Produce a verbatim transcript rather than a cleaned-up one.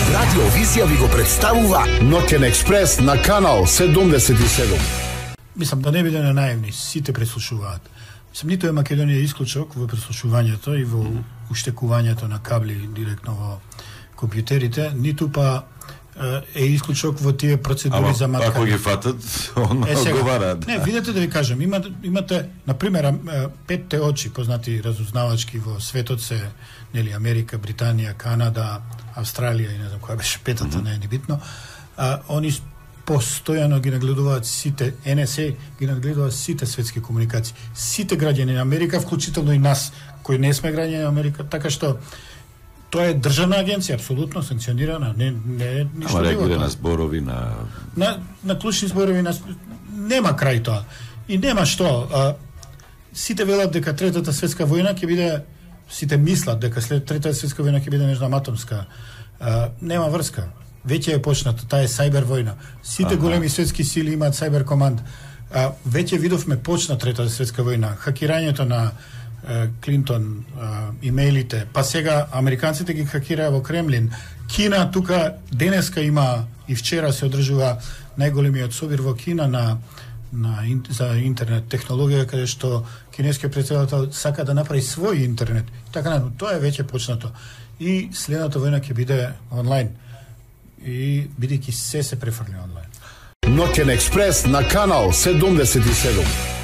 Радио Визија ви го представува Ноќен експрес на канал седумдесет и седум. Мислам да не бидеме наивни, сите преслушуваат. Мислам, ниту е Македонија исклучок во преслушувањето и во уштекувањето на кабли директно во компјутерите, ниту па е исклучок во тие процедури Ама, за маткање. Ако ги фатат, он одговараат. Не, видете да ви кажам, има, имате, например, петте очи, познати разузнавачки во светот се, нели, Америка, Британија, Канада, Австралија и не знам која беше петата, mm-hmm. не е ни битно. А, они постојано ги нагледуваат сите, Ен Ес А ги нагледуваат сите светски комуникации. Сите граѓани на Америка, вклучително и нас, кои не сме граѓани на Америка, така што тоа е државна агенција, апсолутно санкционирана, не не е ништо. Ама реагира на зборови, на на на клучни зборови, на нема крај тоа. И нема што, а, сите велат дека третата светска војна ќе биде, сите мислат дека след третата светска војна ќе биде междуатомска. А, нема врска. Веќе е почнато, таа е сајбер војна. Сите ага. големи светски сили имаат сајбер команд. А, веќе видовме почна третата светска војна, хакирањето на Клинтон, имейлите, па сега американците ги хакираа во Кремлин. Кина тука денеска има и вчера се одржува најголемиот собир во Кина на, на за интернет технологија, каде што кинескиот претседател сака да направи свој интернет. Така, тоа е веќе почнато. И следната војна ќе биде онлайн. И бидејќи се се префрли онлайн. Ноќен експрес на канал седумдесет и седум.